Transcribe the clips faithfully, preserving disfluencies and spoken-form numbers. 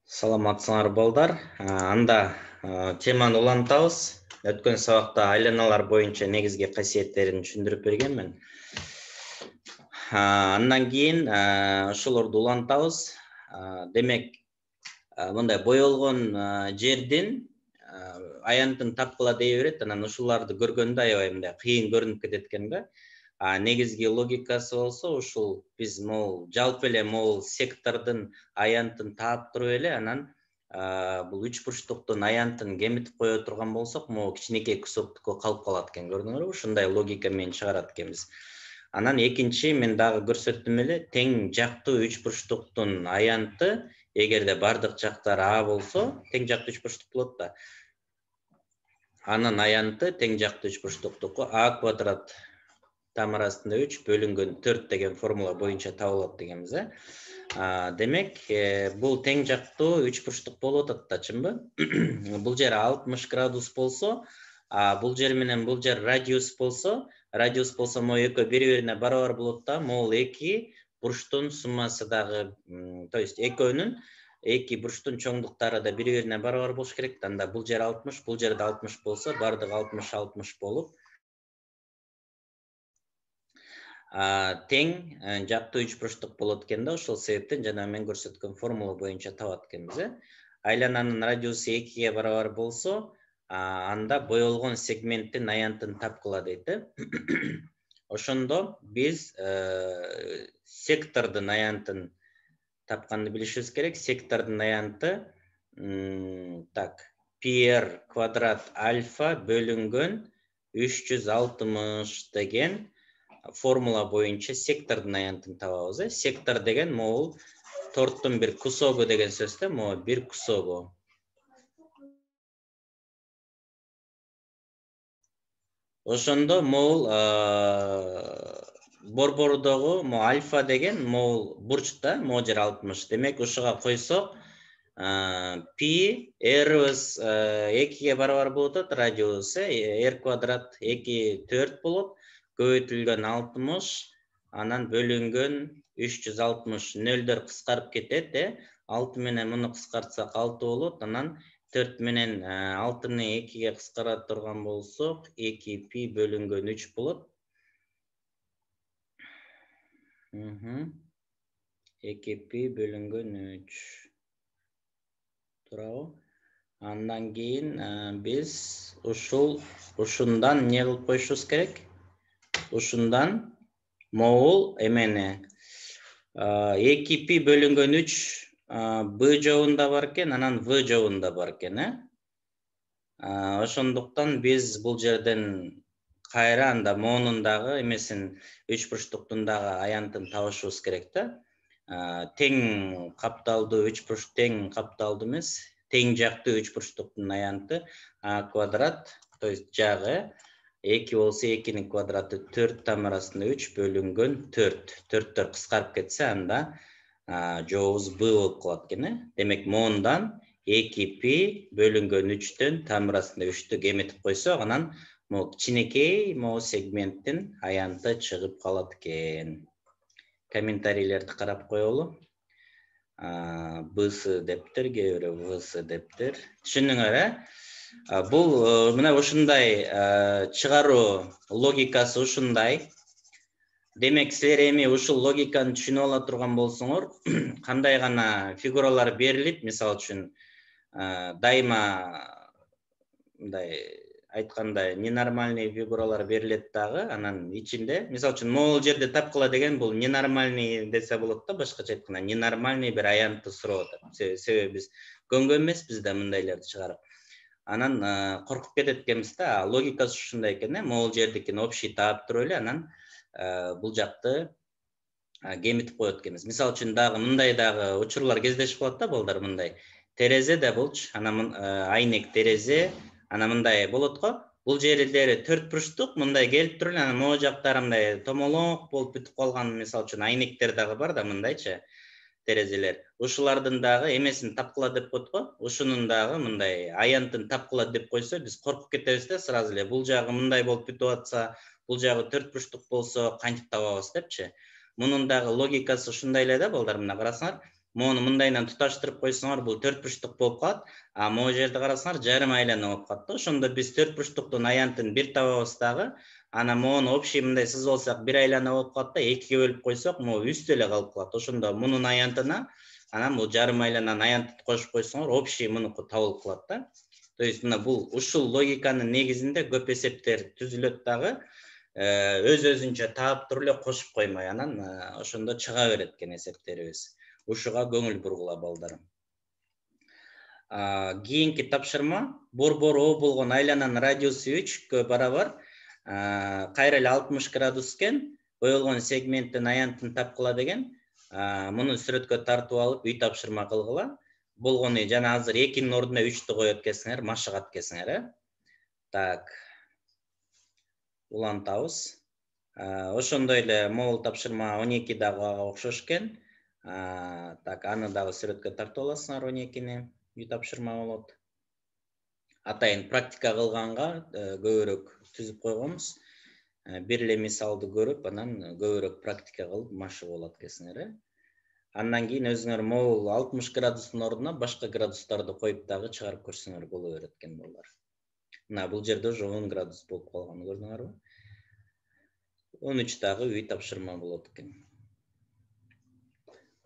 Саламатсыңар балдар. Анда теманы улантабыз. Өткөн сабакта айланалар боюнча негизги касиеттерин түшүндүрүп бергенмин. Андан кийин ошолорду улантабыз. Демек, мындай боелгон жердин аянтын тапкыла дей берет, анан ушуларды көргөндө аябай мындай кыйын көрүнүп кетет экен да. Негизги логикасы болсо ушул биз могул жалпы эле могул сектордун аянтын таап туруп эле анан бул үч бурчтуктун аянтын кемитип кое турган болсок, могул кичинекей кусоктуку калып калат экен, көрдүңөрбү? Ушундай логика менен чыгарат экенбиз. Анан экинчи мен дагы көрсөттүм эле, тең жактуу үч бурчтуктун аянты эгерде бардык жактары А болсо, тең жактуу үч бурчтук болот да. Анын аянты тең жактуу үч бурчтуктуку А квадрат тамыр астында үч бөлүнгөн төрт деген формула боюнча табылат дегенбиз, э? Демек, бул тең жактуу үч бурчтук болуп атат да, чынбы? Бул жер алтымыш градус болсо, бул жер менен бул жер радиус болсо, радиус болсо могу экөө бири-бирине барабар болот да, могул эки бурчтун суммасы дагы, то есть экөөнүн эки бурчтун чоңдуктары да бири-бирине барабар болуш керек да. Анда бул жер алтымыш, бул жерде алтымыш болсо, бардыгы алтымыш алтымыш болуп, тең жактуу үч бурчтук болот экен да. Ошол себептен жана мен көрсөткөн формула боюнча табат экенбиз, э? Айлананын радиусу экиге барабар болсо, анда боелгон сегменттин аянтын тапкыла дейт, э? Ошондо биз сектордун аянтын тапканды билишибиз керек. Сектордун аянты так, пи-эр квадрат альфа бөлүнгөн үч жүз алтымыш деген формула боюнча сектордун аянтын табабыз, э? Сектор деген могул торттун бир кусогу деген сөз да, могу бир кусогу. Ошондо могул борбордогу могу альфа деген могул бурч да, могу жер алтымыш. Демек, ушуга койсок, пи эрибиз экиге барабар болуп атат, радиус, э? R квадрат эки төрт болот. Көбөйтүлгөн алтымыш, анан бөлүнгөн үч жүз алтымыш, нөлдөр кыскарып кетет, э? алты менен муну кыскартсак алты болот, анан төрт менен алтыны экиге кыскара турган болсок, эки пи бөлүнгөн үч болот. эки пи бөлүнгөн үч. Туурабы? Андан кийин биз ушул ушундан эмне кылып коюшубуз керек? Ушундан могул эмени эки пи бөлүнгөн үч Б жобунда бар экен, анан В жобунда бар экен, э? Ошондуктан биз бул жерден кайра анда моунун дагы эмесин үч бурчтуктун дагы аянтын табышыбыз керек да. Тең капталдуу үч бурч тең капталдуу эмес, тең жактуу үч бурчтуктун аянты А квадрат, то есть жагы эки болсо экинин квадраты төрт тамыр астында үч бөлүнгөн төрт. төрттөр кыскарып кетсе, анда жообубуз Б болуп калат экен, э? Демек, моундан эки пи бөлүнгөн үчтөн тамыр астында үчтү кемитип койсок, анан могу кичинекей могу сегменттин аянты чыгып калат экен. Комментарийлерди карап коелу. БС дептир, кээ бирөө ВС дептир. Түшүндүңөр, э? Бул мына ушундай чыгаруу логикасы ушундай. Демек, силер эми ушул логиканы түшүнүп ала турган болсоңор, кандай гана фигуралар берилип, мисалы үчүн, дайыма мындай айтканда ненормальный фигуралар берилет дагы, анан ичинде, мисалы үчүн, могул жерде тапкыла деген бул ненормальный десе болот да, башкача айтканда, ненормальный бир аянтты сурап атат. Себеби биз көнгөн эмеспиз да мындайларды чыгарып. Анан коркуп кетет экенбиз да, логикасы ушундай экен, э? Могул жердикин общий таап туруп эле, анан бул жакты кемитип коет экенбиз. Мисалы үчүн дагы мындай дагы учурлар кездешип калат да, балдар, мындай. Терезе да болчу, анан айнек терезе, анан мындай болот го. Бул жерлери төрт бурчтук, мындай келип туруп эле, анан могу жактары мындай томолоок болуп бүтүп калган, мисалы үчүн айнектер дагы бар да, мындайчы терезелер. Ушулардын дагы эмесин тапкыла деп коет го. Ушунун дагы мындай аянтын тапкыла деп койсо, биз коркуп кетебиз да, сразу эле. Бул жагы мындай болуп бүтүп атса, бул жагы төрт бурчтук болсо, кантип табабыз депчи. Мунун дагы логикасы ушундай эле да, балдар, мына карасаңар. Мону мындайынан туташтырып койсоңор бул төрт бурчтук болуп калат. А могу жерде карасаңар жарым айлана болуп калат да. Ошондо биз төрт бурчтуктун аянтын бир табабыз дагы, анан мону общий мындай сызып алсак бир айлана болуп калат да, экиге бөлүп койсок, могу үстү эле калып калат. Ошондо мунун аянтына анан бул жарым айлананын аянтын кошуп койсоңор, общий мунуку табылып калат да. То есть мына бул ушул логиканын негизинде көп эсептер түзүлөт дагы, өз өзүнчө таап туруп эле кошуп коймой, анан ошондо чыга берет экен эсептерибиз. Ушуга көңүл бургула балдарым. Кийинки тапшырма борбору О болгон айлананын радиусу үчкө барабар, кайра эле алтымыш градус экен, боелгон сегменттин аянтын тапкыла деген. Муну сүрөткө тартып алып үй тапшырма кылгыла. Болгону жана азыр экинин ордуна үчтү коет экенсиңер, машыгат экенсиңер, э? Так. Улантабыз. Ошондой эле могул тапшырма он эки дагы окшош экен. Так, аны дагы сүрөткө тартып аласыңар, он экини үй тапшырма болот. Атайын практика кылганга көбүрөөк түзүп койгонбуз. Бир эле мисалды көрүп, анан көбүрөөк практика кылып машыгып алат экенсиңер, э? Андан кийин өзүңөр могул алтымыш градустун ордуна башка градустарды коюп дагы чыгарып көрсөңөр боло берет экен балдар. Мына бул жерде уже он градус болуп калганын көрдүңөрбү? он үч дагы үй тапшырма болот экен.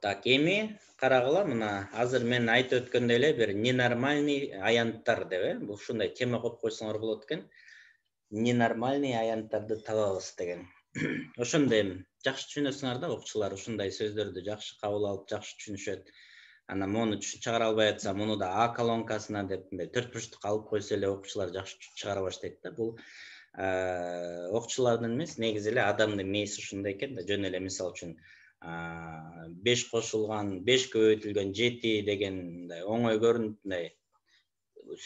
Так, эми карагыла, мына азыр мен айтып өткөндөй эле бир ненормальный аянттар деп, э? Бул ушундай тема коюп койсоңор болот экен. Ненормальный аянттарды табабыз деген. Ошондо эми жакшы түшүнөсүңөр да, окуучулар ушундай сөздөрдү жакшы кабыл алып, жакшы түшүнүшөт. Анан мону чыгара албай атса, муну да А колонкасына деп мындай төрт бурчтук алып койсо эле окуучулар жакшы чыгара баштайт да. Бул окуучулардын эмес, негизи эле адамдын мээси ушундай экен да. Жөн эле мисал үчүн беш кошулган, беш көбөйтүлгөн жети деген мындай оңой көрүнүп, мындай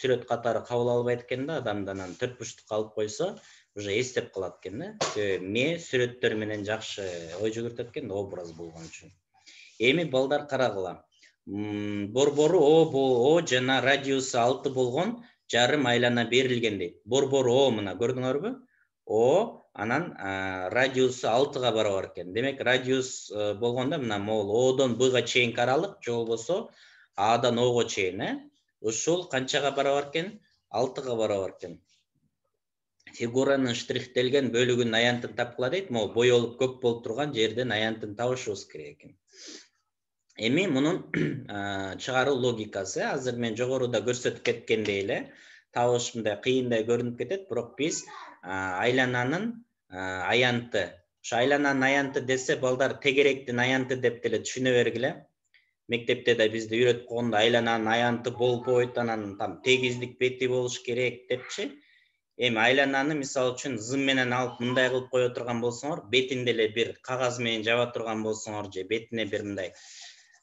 сүрөт катары кабыл албайт экен да адамды, анан төрт бурчтук алып койсо, уже эстеп калат экен да. Мээ сүрөттөр менен жакшы ой жүгүртөт экен да, образ болгон үчүн. Эми балдар карагыла. Борбору О жана радиусу алты болгон жарым айлана берилген дейт. Борбору О мына көрдүңөрбү? О, анан радиусу алтыга барабар экен. Демек, радиус болгондо мына могул Одон Бга чейинки аралык, же болбосо Адан Ого чейин, э? Ушул канчага барабар экен? алтыга барабар экен. Фигуранын штрихтелген бөлүгүнүн аянтын тапкыла дейт. Могу боелуп көк болуп турган жерден аянтын табышыбыз керек экен. Эми мунун чыгаруу логикасы, азыр мен жогоруда көрсөтүп кеткендей эле, табыш мындай кыйындай көрүнүп кетет, бирок биз айлананын аянты, ошо айлананын аянты десе, балдар тегеректин аянты деп деле түшүнө бергиле. Мектепте да бизди үйрөтүп койгондо айлананын аянты болбойт, анан там тегиздик бети болуш керек депчи. Эми айлананы мисалы үчүн зым менен алып мындай кылып кое турган болсоңор, бетинде эле бир кагаз менен жаба турган болсоңор, же бетине бир мындай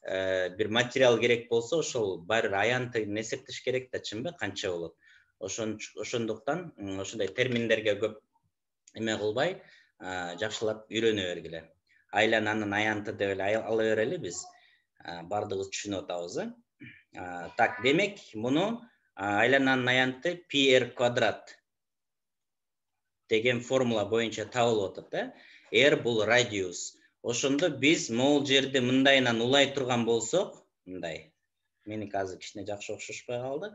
бир материал керек болсо, ошол баары аянтын эсептеш керек да, чынбы, канча болот. Ошондуктан ошондой терминдерге көп эме кылбай, жакшылап үйрөнө бергиле. Айлананын аянты деп эле ала берели биз. Бардыгыбыз түшүнүп атабыз, э? Так, демек, муну айлананын аянты пи эр квадрат деген формула боюнча табылып атат, э? R бул радиус. Ошондо биз могул жерде мындайынан улай турган болсок, мындай. Меники азыр кичине жакшы окшошпой калды.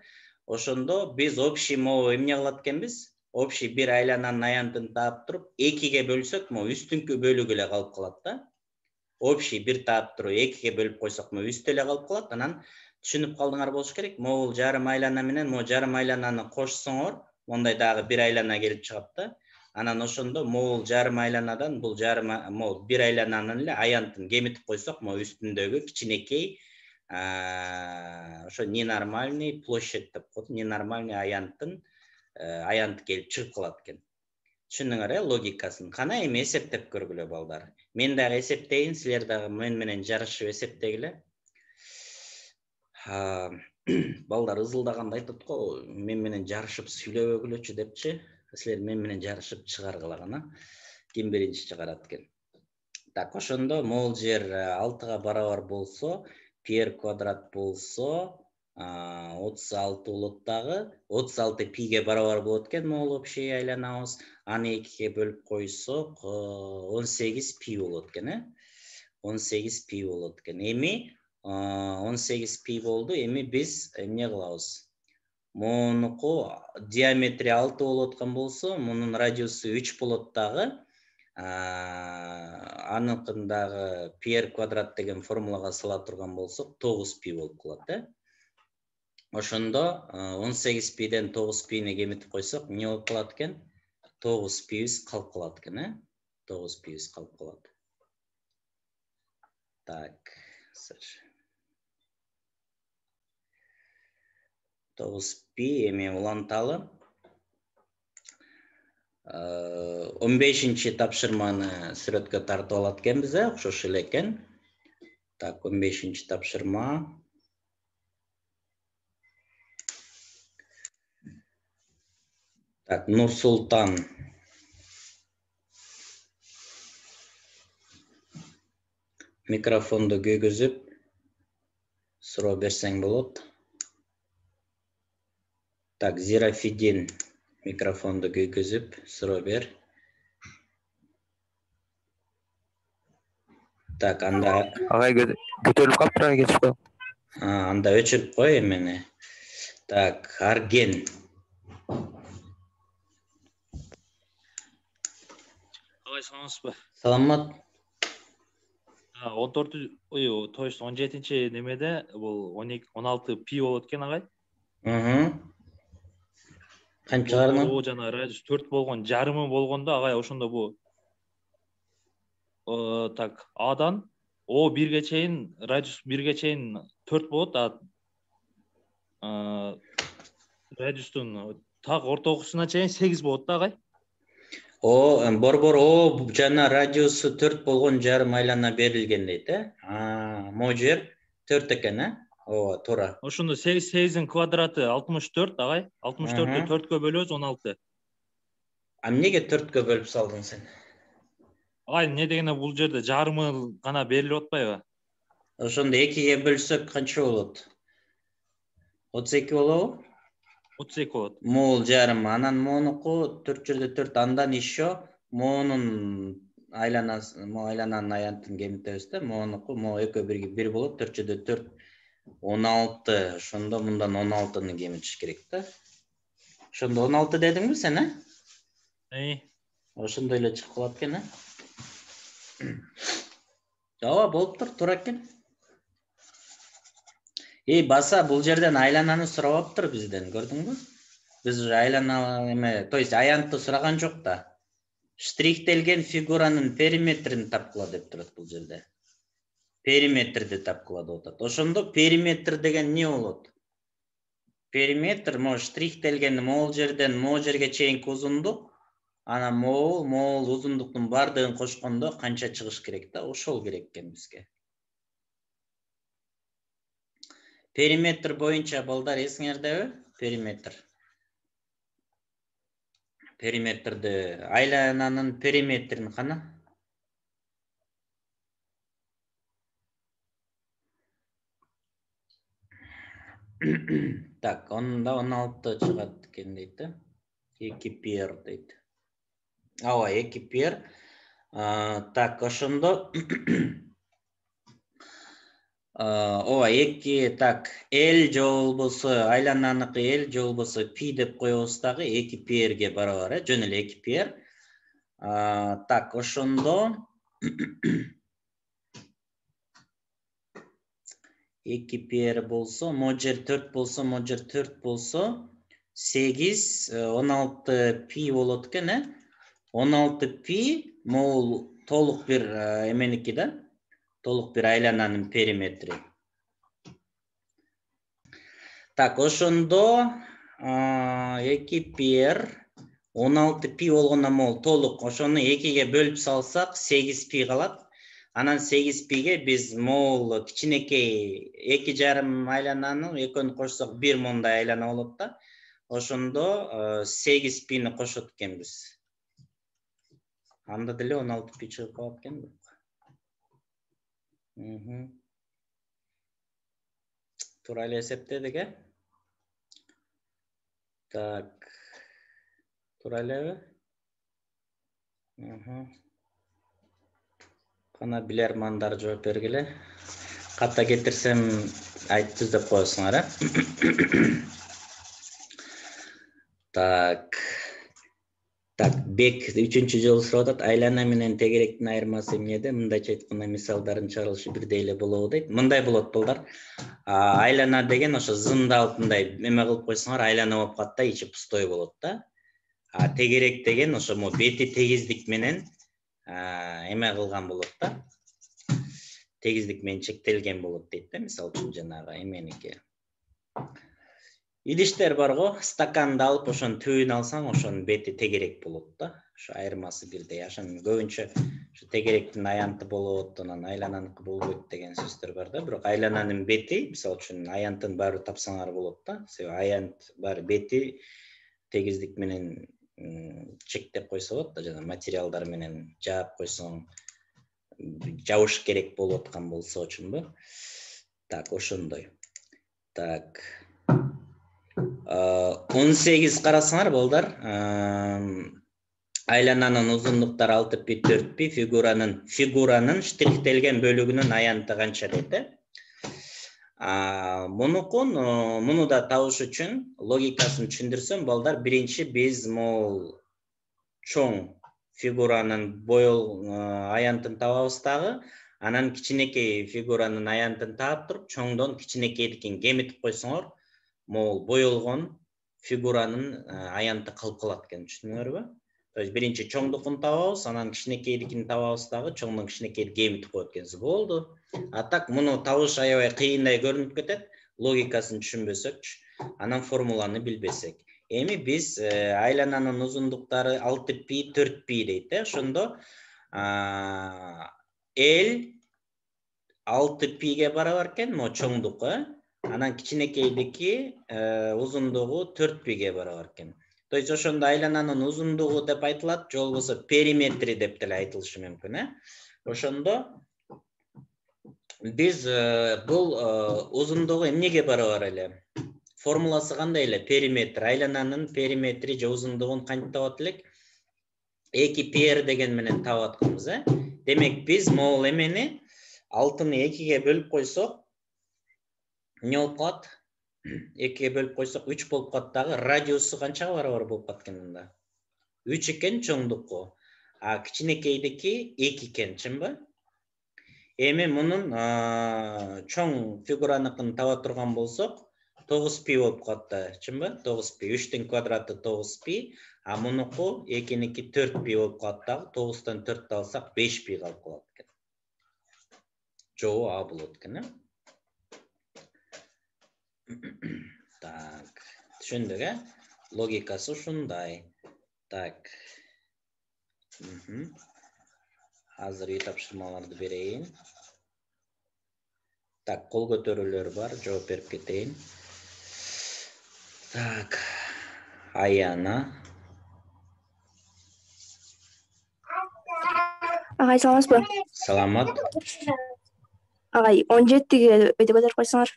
Ошондо биз общий могу эмне кылат экенбиз? Общий бир айлананын аянтын таап туруп, экиге бөлсөк, могу үстүнкү бөлүгү эле калып калат да. Общий бир таап туруп, экиге бөлүп койсок, могу үстү эле калып калат. Анан түшүнүп калдыңар болуш керек. Могул жарым айлана менен могу жарым айлананы кошсоңор, мондай дагы бир айлана келип чыгат да. Анан ошондо могул жарым айланадан бул жарым могул бир айлананын эле аянтын кемитип койсок, могу үстүндөгү кичинекей ошо ненормальный площадь деп коет, ненормальный аянтын аянты келип чыгып калат экен. Түшүндүңөр, э, логикасын. Кана эми эсептеп көргүлө балдар. Мен дагы эсептейин, силер дагы мен менен жарышып эсептегиле. Балдар ызылдаганда айтат го, мен менен жарышып сүйлөбөгүлөчү депчи. Силер мен менен жарышып чыгаргыла гана. Ким биринчи чыгарат экен. Так, ошондо могул жер алтыга барабар болсо, пи эр квадрат болсо, отуз алты болот дагы. отуз алты пиге барабар болот экен могул общий айланабыз. Аны экиге бөлүп койсок, он сегиз пи болот экен, э? он сегиз пи болот экен. Эми он сегиз пи болду. Эми биз эмне кылабыз? Монуку диаметри алты болуп аткан болсо, мунун радиусу үч болот дагы. Аныкындагы пи эр квадрат деген формулага сала турган болсок, тогуз пи болуп калат, э? Ошондо он сегиз пиден тогуз пини кемитип койсок, эмне болуп калат экен? тогуз пибиз калып калат экен, э? тогуз пибиз калып калат. Так, тогуз пи эми уланталы. он бешинчи тапшырманы сүрөткө тартып алат экенбиз, э? Окшош эле экен. Так, он бешинчи тапшырма. Так, Нурсултан. Микрофонду күйгүзүп суроо берсең болот. Так, Зирафидин. Микрофонду күйгүзүп суроо бер. Так, анда агай көтөрүлүп калыптыр, агай кетип коем. Анда өчүрүп кой эмени. Так, Арген. Агай саламатсызбы? Саламат. он төрт, ой, то есть он жетинчи немеде бул он эки он алты пи болот экен, агай. Мм. Канчаларны? Бул жана радиус төрт болгон, жарымы болгондо агай ошондо бу так, Адан О бирге чейин, радиус бирге чейин төрт болот, а радиустун так ортогусуна чейин сегиз болот да, агай. О, борбор О жана радиусу төрт болгон жарым айлана берилген дейт, э? А, могу жер төрт экен, э? Ооба, туура. Ошондо сегиздин квадраты алтымыш төрт, агай. алтымыш төрттү төрткө бөлөбүз, он алты. А эмнеге төрткө бөлүп салдың сен? Агай, эмне дегенде бул жерде жарымы гана берилип атпайбы? Ошондо экиге бөлсөк канча болот? отуз эки болобу? отуз эки болот. Могул жарым. Анан монуку төрт жерде төрт, андан еще монун айланасы, мо айлананын аянтын кемитебиз да. Монуку мо экөө бирге бир болот, төрт жерде төрт, он алты. Ошондо мындан он алтыны кемитиш керек да. Ошондо он алты дедиңби сен, э? Эй. Ошондой эле чыгып калат экен, э? Ооба, болуптур, туура экен. Эй, баса, бул жерден айлананы сурабаптыр бизден, көрдүңбү? Биз уже айлана эме, то есть аянтты сураган жок да. Штрихтелген фигуранын периметрин тапкыла деп турат бул жерде. Периметрди тапкыла деп атат. Ошондо периметр деген эмне болот? Периметр мо штрихтелген могул жерден могул жерге чейинки узундук, анан могул, могул узундуктун бардыгын кошкондо канча чыгыш керек да? Ошол керек экен бизге. Периметр боюнча балдар эсиңердеби? Периметр. Периметрди, айлананын периметрин кана. Так, онда он алты чыгат экен дейт да. эки пи эр дейт. Ооба, эки пи эр. Так, ошондо ооба, эки, так, L же болбосо айлананыкы L же болбосо пи деп коебуз дагы, эки пи эрге барабар, э? Жөн эле эки пи эр. Так, ошондо эки пи эр болсо, могу жер төрт болсо, могу жер төрт болсо, сегиз, он алты пи болот экен, э? он алты пи могул толук бир эменики да, толук бир айлананын периметри. Так, ошондо эки пи эр он алты пи болгондон могул толук, ошону экиге бөлүп салсак сегиз пи калат. Анан сегиз пиге биз могул кичинекей эки жарым айлананы экөөнү кошсок бир мондай айлана болот да. Ошондо сегиз пини кошот экенбиз. Анда деле он алты пи чыгып калат экен. Мм. Туура эле эсептедик, э? Так. Туура элеби? Мм. Кана билермандар жооп бергиле. ката кетирсем айтты деп коесуңар, э? Так. Так, бек үчүнчү жолу сурап атат. Айлана менен тегеректин айырмасы эмнеде? Мындайча айтканда мисалдарын чыгарылышы бирдей эле болобу дейт. Мындай болот балдар. Айлана деген ошо зымды алып мындай эме кылып койсоңор, айлана болуп калат да, ичи пустой болот да. А тегерек деген ошо мо бети тегиздик менен эме кылган болот да. Тегиздик менен чектелген болот дейт да, мисалы үчүн жанагы эменики. Идиштер бар го, стаканды алып ошонун түбүн алсаң, ошонун бети тегерек болот да. Ошо айырмасы бирдей. Ошон көбүнчө ошо тегеректин аянты болот, анан айлананыкы болбойт деген сөздөр бар да. Бирок айлананын бети, мисалы үчүн аянтын баары тапсаңар болот да. Себеби аянт баары бети тегиздик менен чектеп койсо болот да, жана материалдар менен жаап койсоң, жабыш керек болуп аткан болсо үчүнбү? Так, ошондой. Так. он сегиз карасаңар балдар, айлананын узундуктары алты пи, төрт пи, фигуранын фигуранын штрихтелген бөлүгүнүн аянты канча дейт, э? Мунукун, муну да табыш үчүн логикасын түшүндүрсөм, балдар, биринчи биз могул чоң фигуранын боел аянтын табабыз дагы, анан кичинекей фигуранын аянтын таап туруп, чоңдон кичинекейдикин кемитип койсоңор, могул боелгон фигуранын аянты калып калат экен, түшүндүңөрбү? То есть биринчи чоңдукун табабыз, анан кичинекейдикин табабыз дагы, чоңдон кичинекейди кемитип коет экенбиз. Болду. А так муну табыш аябай кыйындай көрүнүп кетет, логикасын түшүнбөсөкчү, анан формуланы билбесек. Эми биз айлананын узундуктары алты пи, төрт пи дейт, э? Ошондо L алты пиге барабар экен, могу чоңдук, э? Анан кичинекейдики узундугу төрт пиге барабар экен. То есть ошондо айлананын узундугу деп айтылат, же болбосо периметри деп деле айтылышы мүмкүн, э? Ошондо биз бул узундугу эмнеге барабар эле? Формуласы кандай эле? Периметр, айлананын периметри же узундугун кантип табат элек? эки пи эр деген менен таап атканбыз, э? Демек биз могул эмени алтыны экиге бөлүп койсок, эмне болуп калат? экиге бөлүп койсок үч болуп калат дагы, радиусу канчага барабар болуп калат экен мында? үч экен чоңдукку, а кичинекейдики эки экен, чынбы? Эми мунун чоң фигураныкын таба турган болсок, тогуз пи болуп калат да, чынбы? тогуз пи, үчтүн квадраты тогуз пи, а мунуку экиники төрт пи болуп калат дагы, тогуздан төрттү алсак беш пи калып калат экен. Жоо А болот экен, э? Так, түшүндүк, э? Логикасы ушундай. Так. Азыр үй тапшырмаларды берейин. Так, кол көтөрүүлөр бар, жооп берип кетейин. Так. Аяна. Агай, саламатсызбы? Саламат. Агай, он жетиге өйдө көтөрүп койсоңор.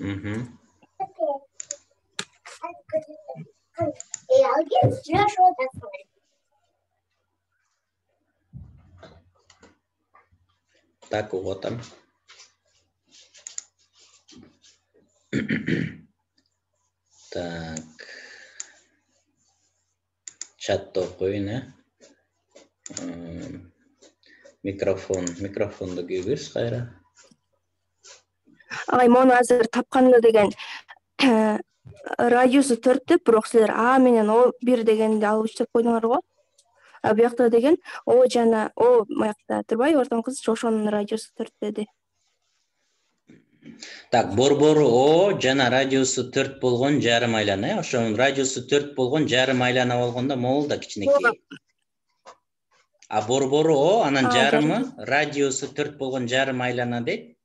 Мхм. Так, уготам. Так. Чатты окуйун, э? Микрофон, микрофонду күйгүз кайра. Агай, мону азыр тапканда деген радиусу төрт деп, бирок силер А менен О бир дегенди алып иштеп койдуңар го. А буякта деген О жана О маякта турбайбы, ортоң кыз ошонун радиусу төрт деди. Так, борбору О жана радиусу төрт болгон жарым айлана, э? Ошонун радиусу төрт болгон жарым айлана болгондо могул да кичинекей. А борбору О, анан жарымы радиусу төрт болгон жарым айлана дейт.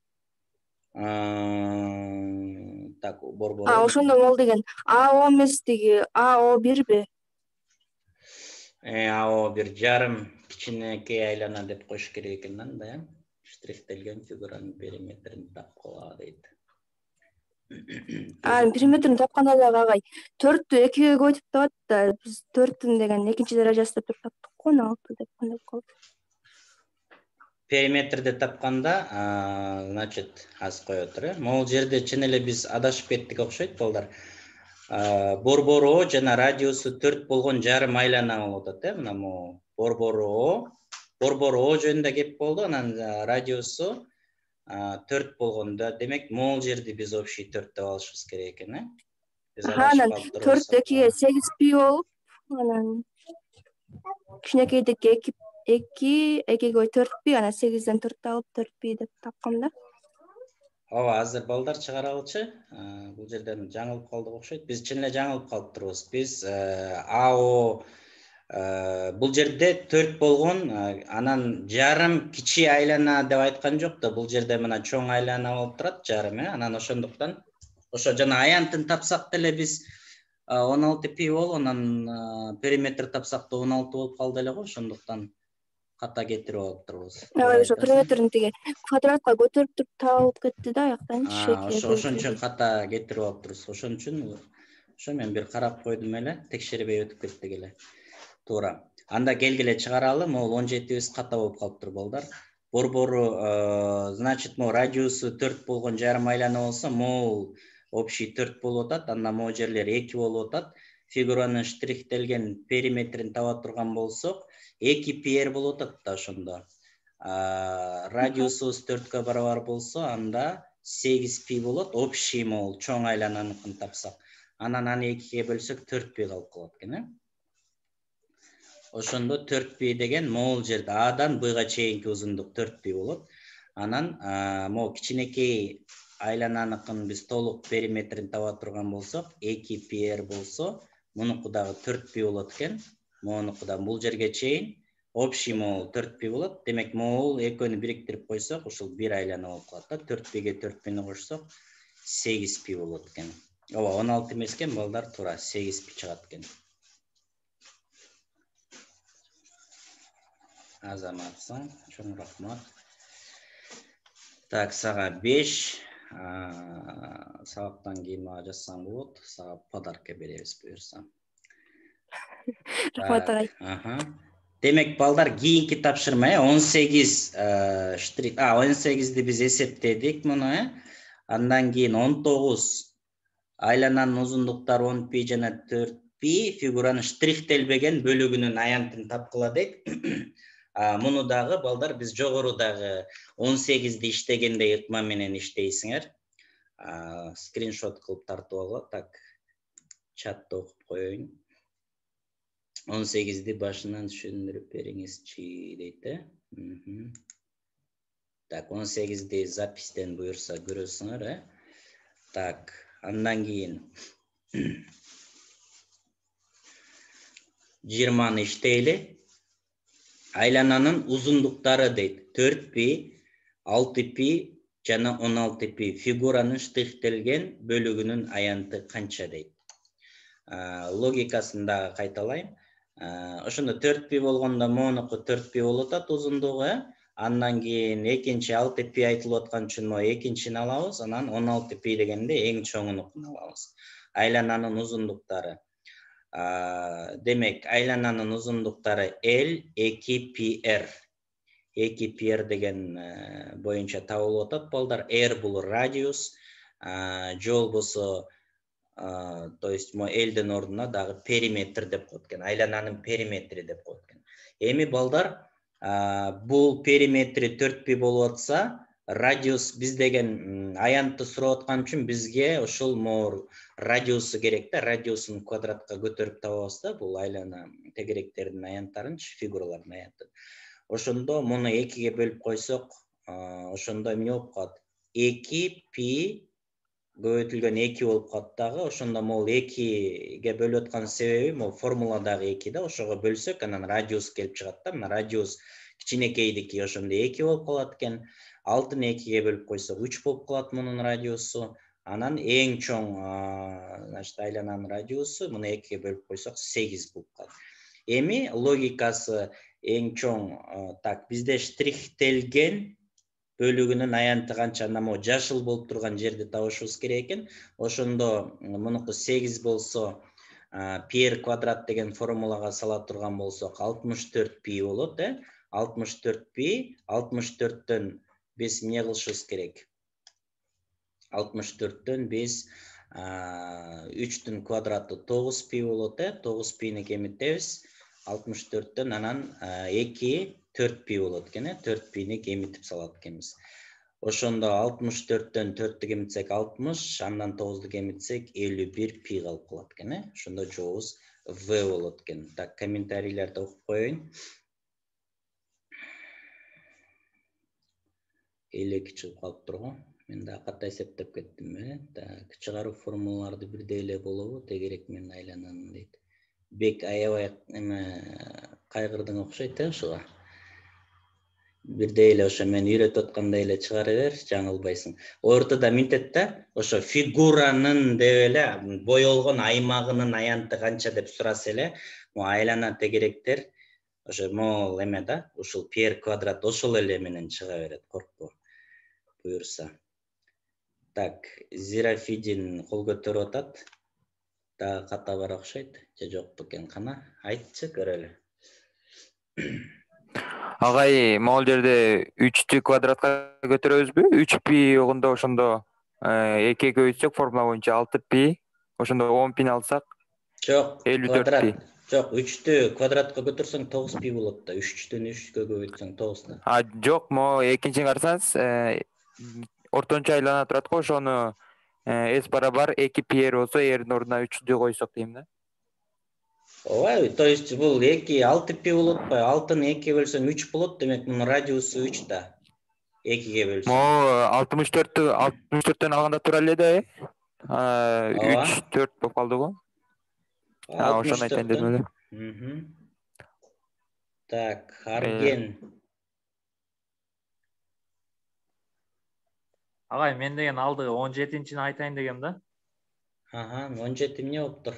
Так, борбору. А, ошондо могул деген А О эмес, тиги А О бирби? Э, А О бир жарым кичинекей айлана деп коюш керек экен анда, э? Штрихтелген фигуранын периметрин тапкыла дейт. А, периметрин тапканда дагы агай төрттү экиге көбөйтүп табат да, биз төрттүн деген экинчи даражасы деп туруп таптык го, алты деп кандай калды. периметрди тапканда, значит, аз коет эле. Могул жерде чын эле биз адашып кеттик окшойт балдар. Борбору О жана радиусу төрт болгон жарым айлана болуп атат, э? Мына могу борбору О, борбору О жөнүндө кеп болду, анан радиусу төрт болгондо, демек могул жерди биз общий төрт деп алышыбыз керек экен, э? Биз анан төрт экиге сегиз пи болуп, анан кичинекейдики эки эки экиге төрт пи, анан сегизден төрт алып төрт пи деп тапкам да. Ооба, азыр балдар чыгаралычы. Бул жерден жаңылып калдык окшойт. Биз чын эле жаңылып калыптырбыз. Биз АО бул жерде төрт болгон, анан жарым кичи айлана деп айткан жок да. Бул жерде мына чоң айлана болуп турат, жарым, э? Анан ошондуктан ошо жана аянтын тапсак деле биз он алты пи болуп, анан периметр тапсак да он алты болуп калды эле го. Ошондуктан ката кетирип алыптырбыз. Ооба, ошо периметрин тиги квадратка көтөрүп туруп табылып кетти да, аяктанчы. Ошон үчүн ката кетирип алыптырбыз. Ошон үчүн ошо мен бир карап койдум эле, текшербей өтүп кеттик эле. Туура. Анда келгиле чыгаралы, могул он жетибиз ката болуп калыптыр балдар. Борбору, значит, могул радиусу төрт болгон жарым айлана болсо, могул общий төрт болуп атат, андан могул жерлер эки болуп атат. Фигуранын штрихтелген периметрин таба турган болсок, эки пи эр болуп атат да ошондо. Радиусубуз төрткө барабар болсо, анда сегиз пи болот, общий могул чоң айлананыкын тапсак. Анан аны экиге бөлсөк төрт пи калып калат экен, э? Ошондо төрт пи деген могул жерде Адан Бга чейинки узундук төрт пи болот. Анан могул кичинекей айлананыкын биз толук периметрин таба турган болсок, эки пи эр болсо, мунуку дагы төрт пи болот экен. Могунуку да бул жерге чейин общий могул төрт пи болот. Демек могул экөөнү бириктирип койсок, ушул бир айлана болуп калат да. төрт пиге төрт пини кошсок, сегиз пи болот экен. Ооба, он алты эмес экен балдар, туура сегиз пи чыгат экен. Азаматсың, чоң рахмат. Так, сага беш, сабактан кийин мага жазсаң болот, сага подарка беребиз буюрса. Рахмат агай. Демек балдар, кийинки тапшырма, он сегиз штрих, а он сегизди биз эсептедик муну, э? Андан кийин он тогуз айлананын узундуктары он пи жана төрт пи, фигуранын штрихтелбеген бөлүгүнүн аянтын тапкыла дейт. Муну дагы балдар биз жогорудагы он сегизди иштегенде ыкма менен иштейсиңер. Скриншот кылып тартып алгыла, так, чатта окуп коеюн. он сегизди башынан түшүндүрүп бериңизчи дейт, э? Так, он сегизди запистен буюрса көрөсүңөр, э? Так, андан кийин жыйырманы иштейли. Айлананын узундуктары дейт. төрт пи, алты пи жана он алты пи. Фигуранын штрихтелген бөлүгүнүн аянты канча дейт. Логикасын дагы кайталайм. Ошондо төрт пи болгондо монуку төрт пи болуп атат узундугу, э? Андан кийин экинчи алты пи айтылып аткан үчүн мо экинчини алабыз, анан он алты пи дегенде эң чоңунукун алабыз. Айлананын узундуктары. Демек, айлананын узундуктары L эки пи эр. эки пи эр деген боюнча табылып атат балдар. R бул радиус, жол болсо, то есть мо L-дин ордуна дагы периметр деп коет экен. Айлананын периметри деп коет экен. Эми балдар, бул периметри төрт пи болуп атса, радиус биз деген аянтты сурап аткан үчүн бизге ошол мор радиусу керек да, радиусун квадратка көтөрүп табабыз да, бул айлана тегеректердин аянттарынчы, фигуралардын аянтын. Ошондо муну экиге бөлүп койсок, ошондо эмне болуп калат? эки пи көбөйтүлгөн эки болуп калат дагы. Ошондо могул экиге бөлүп аткан себеби могул формуладагы эки да, ошого бөлсөк анан радиус келип чыгат да. Мына радиус кичинекейдики ошондо эки болуп калат экен. алтыны экиге бөлүп койсок үч болуп калат мунун радиусу. Анан эң чоң, значит, айлананын радиусу муну экиге бөлүп койсок сегиз болуп калат. Эми логикасы эң чоң, так, бизде штрихтелген бөлүгүнүн аянты канча, анда могу жашыл болуп турган жерди табышыбыз керек экен. Ошондо мунуку сегиз болсо, пи эр квадрат деген формулага сала турган болсок, алтымыш төрт пи болот, э? алтымыш төрт пи, алтымыш төрттөн биз эмне кылышыбыз керек? алтымыш төрттөн биз үчтүн квадраты тогуз пи болот, э, тогуз пини кемитебиз. алтымыш төрттөн анан эки төрт пи болот экен, э, төрт пини кемитип салат экенбиз. Ошондо алтымыш төрттөн төрттү кемитсек алтымыш, андан тогузду кемитсек элүү бир пи калып калат экен, э. Ошондо жообубуз В болот экен. Так, комментарийлерди окуп коеюн. элүү эки чыгып калыптыр го. Мен да ката эсептеп кеттим, э. Так, чыгаруу формулаларды бирдей эле болобу? Тегерек мен айлананын дейт. Бек аябай эме кайгырдың окшойт, э, ошого. Бирдей эле ошо мен үйрөтүп аткандай эле чыгара бер, жаңылбайсың. Ортодо минтет да, ошо фигуранын деп эле боелгон аймагынын аянты канча деп сураса эле, могу айлана тегеректер ошо могул эме да, ушул пи квадрат ошол эле менен чыга берет, коркпо. Буюрса. Так, Зерафидин кол көтөрүп атат. Дагы ката бар окшойт. Же жок бекен, кана? Айтчы көрөлү. Агай, могул жерде үчтү квадратка көтөрөбүзбү? үч пи огондо ошондо экиге көбөйтсөк формула боюнча алты пи, ошондо он пини алсак Жок, элүү төрт пи. квадрат. Жок, үчтү квадратка көтөрсөң тогуз пи болот да. үчтөн үчкө көбөйтсөң тогуз да. А, жок, могу экинчини карасаңыз, ортончо айлана турат го, ошону S барабар эки пи болсо, эрдин ордуна үчтү койсок дейм да. Ооба, то есть бул эки алты пи болот атпайбы? алтыны экиге бөлсөң үч болот, демек мунун радиусу үч да. экиге бөлсөң. Могу алтымыш төрттү алтымыш төрттөн алганда тура эле да, э? үч төрт болуп калды го. А, ошону айтайын дедим эле. Мм. Так, Арген. Агай, мен деген алды он жетинчини айтайын дегем да. Ага, он жети эмне болуптур?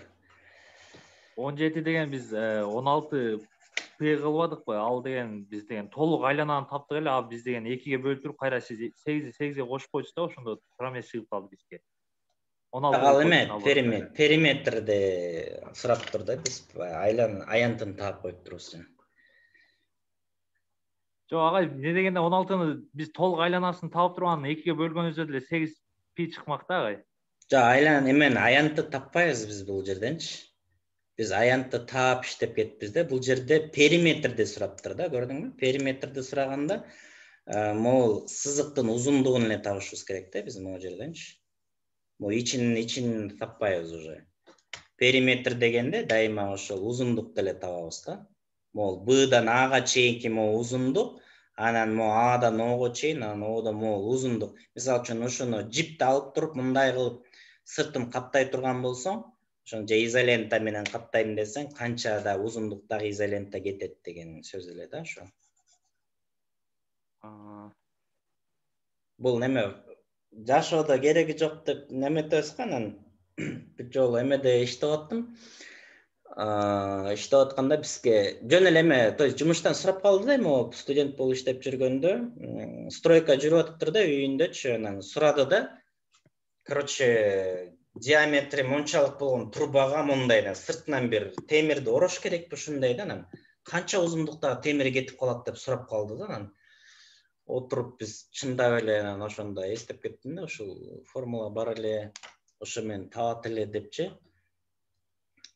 он жети деген биз он алты пи кылбадыкпы? Ал деген биз деген толук айлананы таптык эле, а биз деген экиге бөлүп туруп кайра сегизди сегизге кошуп койчубуз да, ошондо туура эмес чыгып калды бизге. он алты. Ал эме периметр, периметрди сурап тур да, биз айлан аянтын таап коюп турубуз. Жок, агай, эмне дегенде он алтыны биз толук айланасын таап туруп анан экиге бөлгөнүбүздө деле сегиз пи чыкмак да, агай. Жок, айлан эмен аянтты таппайбыз биз бул жерденчи. Биз аянтты таап иштеп кетпиз да. Бул жерде периметрди сураптыр да, көрдүңбү? Периметрди сураганда могул сызыктын узундугун эле табышыбыз керек да, биз могул жерденчи. Могу ичин ичин таппайбыз уже. Периметр дегенде дайыма ошол узундукту эле табабыз да. Могул Б'дан Ага чейинки могул узундук, анан могул Адан Ого чейин, анан Оодон могул узундук. Мисалы үчүн ошону жипти алып туруп мындай кылып сыртын каптай турган болсоң, ошону же изолента менен каптайм десең, канча да узундуктагы изолента кетет деген сөз эле да ошо. Бул неме жашоодо кереги жок деп неметебиз го, анан бир жолу эмеде иштеп аттым. Иштеп атканда бизге жөн эле эме, то есть жумуштан сурап калды да, могу студент болуп иштеп жүргөндө, стройка жүрүп атыптыр да үйүндөчү, анан сурады да. Короче, диаметри мончалык болгон трубага мондай да, сыртынан бир темирди орош керекпи ушундай да, анан канча узундуктагы темир кетип калат деп сурап калды да, анан отуруп биз чындап эле анан ошондо эстеп кеттим да, ушул формула бар эле, ошо менен табат эле депчи.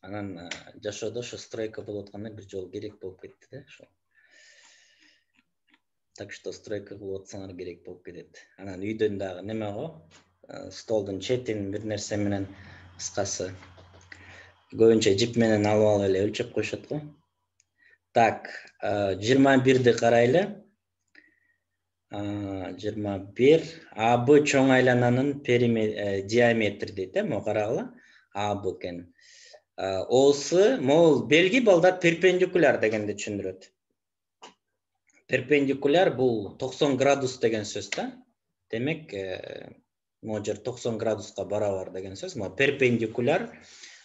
Анан жашоодо ошо стройка болуп атканда бир жолу керек болуп кетти да ошо. Так что стройка кылып атсаңар керек болуп кетет. Анан үйдөн дагы неме го, столдун четин бир нерсе менен, кыскасы көбүнчө жип менен алып алып эле өлчөп коюшат го. Так, жыйырма бирди карайлы. жыйырма бир А Б чоң айлананын диаметри дейт, э, могу карагыла. А Б экен. Осы, могул белги балдар перпендикуляр дегенди түшүндүрөт. Перпендикуляр бул токсон градус деген сөз да. Демек, могу жер токсон градуска барабар деген сөз. Могу перпендикуляр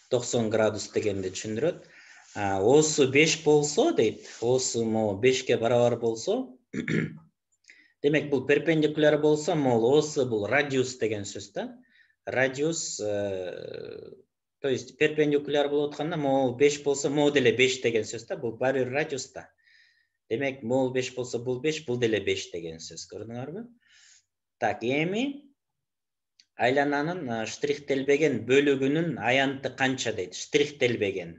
токсон градус дегенди түшүндүрөт. Осы беш болсо дейт, осы могу бешке барабар болсо, демек бул перпендикуляр болсо, могул осы бул радиус деген сөз да. Радиус, то есть перпендикуляр болуп атканда могул беш болсо, могу деле беш деген сөз да, бул баары бир радиус да. Демек, могул беш болсо, бул беш, бул деле беш деген сөз. Көрдүңөрбү? Так, эми айлананын штрихтелбеген бөлүгүнүн аянты канча дейт? Штрихтелбеген.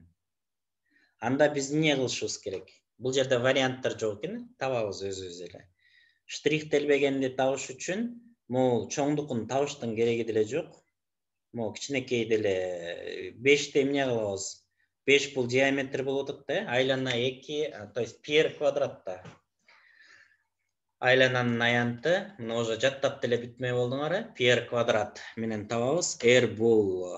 Анда биз эмне кылышыбыз керек? Бул жерде варианттар жок экен, табабыз өзүбүз эле. Штрихтелбегенди табыш үчүн могул чоңдукун табыштын кереги деле жок. Могул кичинекей деле бешти эмне кылабыз? беш бул диаметр болуп атат да, айлана эки, то есть пи квадратта. Айлананын аянты, мына уже жаттап деле бүтмөй болдуңар, пи квадрат менен табабыз. R бул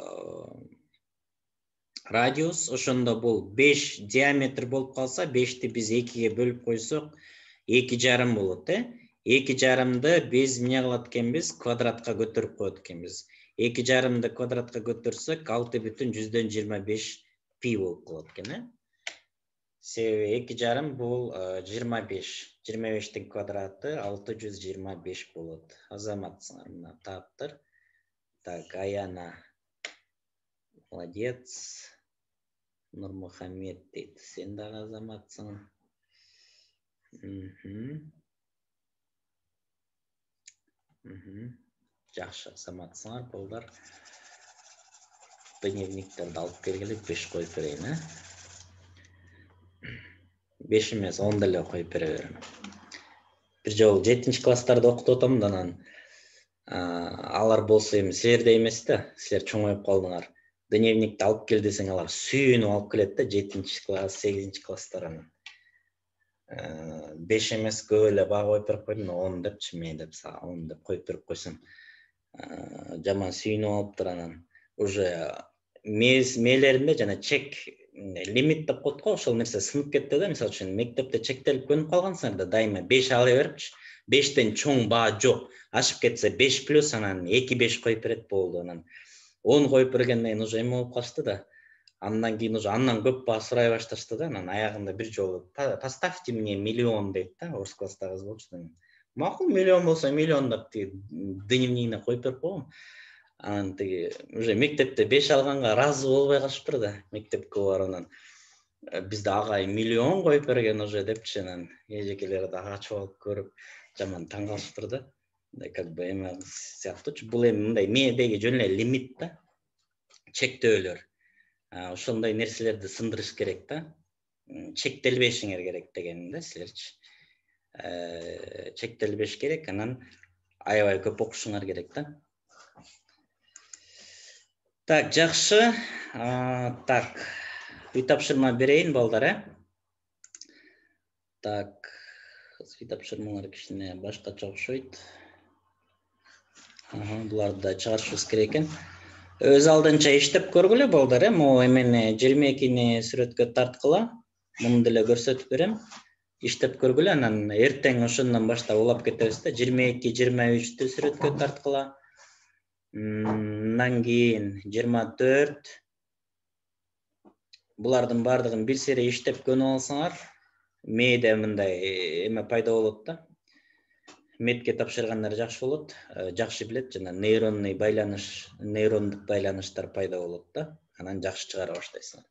радиус, ошондо бул беш диаметр болуп калса, бешти биз экиге бөлүп койсок, эки жарым болот, э? эки жарымды биз эмне кылат экенбиз? Квадратка көтөрүп коет экенбиз. эки жарымды квадратка көтөрсөк, алты бүтүн жүздөн жыйырма беш пи болуп калат экен, э? Себеби эки жарым бул жыйырма беш. жыйырма бештин квадраты алты жүз жыйырма беш болот. Азаматсыңар, мына таптыр. Так, Аяна. Молодец. Нурмухаммед дейт. Сен дагы азаматсың. Мхм. Мхм. Жакшы, азаматсыңар, балдар. Дневниктерди алып келгиле, беш коюп берейин, э? беш эмес, он деле коюп бере берем. Бир жолу жетинчи класстарда окутуп атам да, анан алар болсо эми силердей эмес да, силер чоңоюп калдыңар. Дневникти алып кел десең, алар сүйүнүп алып келет да, жетинчи класс, сегизинчи класстар анан. беш эмес, көп эле баа коюп берип койдум, он депчи, мен деп он деп коюп берип койсом, жаман сүйүнүп алыптыр анан. Уже мээлеринде жана чек лимит деп коет го, ошол нерсе сынып кетти да. Мисалы үчүн мектепте чектелип көнүп калгансыңар да, дайыма беш ала берипчи. бештен чоң баа жок. Ашып кетсе беш плюс, анан эки беш коюп берет болду. Анан он коюп бергенден кийин уже эме болуп калышты да. Андан кийин уже андан көп баа сурай башташты да. Анан аягында бир жолу поставьте мне миллион дейт да, орус класста кыз болчу. Макул, миллион болсо миллион деп дневнигине коюп берип койгом. Анан тиги уже мектепте беш алганга разы болбой калышыптыр да, мектепке барганан. Бизде агай миллион коюп берген уже депчи, анан эжекелер да качып алып көрүп жаман таң калышыптыр да. Мындай как бы эме сыяктуучу. Бул эми мындай мээдеги жөн эле лимит да, чектөөлөр. Ошондой нерселерди сындырыш керек да. Чектелбешиңер керек деген да силерчи. Чектелбеш керек, анан аябай көп окушуңар керек да. Так, жакшы. Так, үй тапшырма берейин, балдар, э? Так, үй тапшырмалар кичине башкача окшойт. Ага, буларды да чыгарышыбыз керек экен. Өз алдынча иштеп көргүлө, балдар, э? Могу эмени жыйырма экини сүрөткө тарткыла. Муну деле көрсөтүп берем. Иштеп көргүлө, анан эртең ошондон баштап улап кетебиз да. жыйырма эки жыйырма үчтү сүрөткө тарткыла. Мындан кийин жыйырма төрт. Булардын бардыгын бир сере иштеп көнүп алсаңар, мээде мындай эме пайда болот да. Метке тапшыргандар жакшы болот, жакшы билет, жана нейронный байланыш, нейрондук байланыштар пайда болот да. Анан жакшы чыгара баштайсыңар.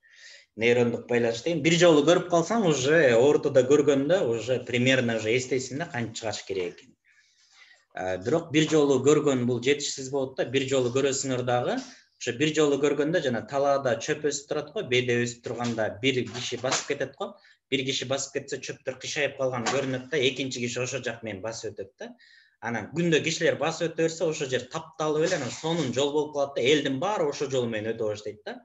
Нейрондук байланыш деген бир жолу көрүп калсаң, уже ортодо көргөндө уже примерно уже эстейсиң да канча чыгарыш керек экен. Бирок бир жолу көргөн бул жетишсиз болот да. Бир жолу көрөсүңөр дагы, ошо бир жолу көргөндө жана талаада чөп өсүп турат го, беде өсүп турганда бир киши басып кетет го. Бир киши басып кетсе, чөптөр кышайып калган көрүнөт да, экинчи киши ошо жак менен басып өтөт да. Анан күндө кишилер басып өтө берсе, ошо жер тапталып эле, анан сонун жол болуп калат да, элдин баары ошо жол менен өтө баштайт да.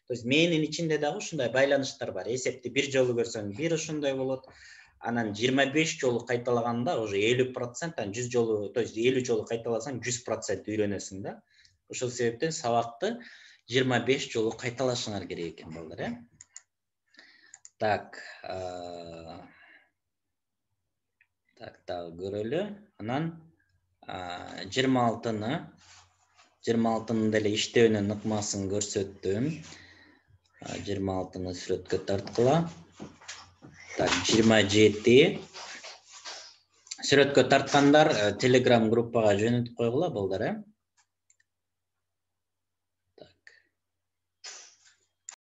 То есть мээнин ичинде дагы ушундай байланыштар бар. Эсепти бир жолу көрсөң, бир ошондой болот. Анан жыйырма беш жолу кайталаганда уже элүү процент, анан жүз жолу, то есть элүү жолу кайталасаң жүз процент үйрөнөсүң да. Ошол себептен сабакты жыйырма беш жолу кайталашыңар керек экен, балдар, э? Так, так, дагы көрөлү. Анан жыйырма алтыны, жыйырма алтынын деле иштөөнүн ыкмасын көрсөттүм. жыйырма алтыны сүрөткө тарткыла. Так, жыйырма жети. Сүрөткө тарткандар Telegram группага жөнөтүп койгула, балдар, э?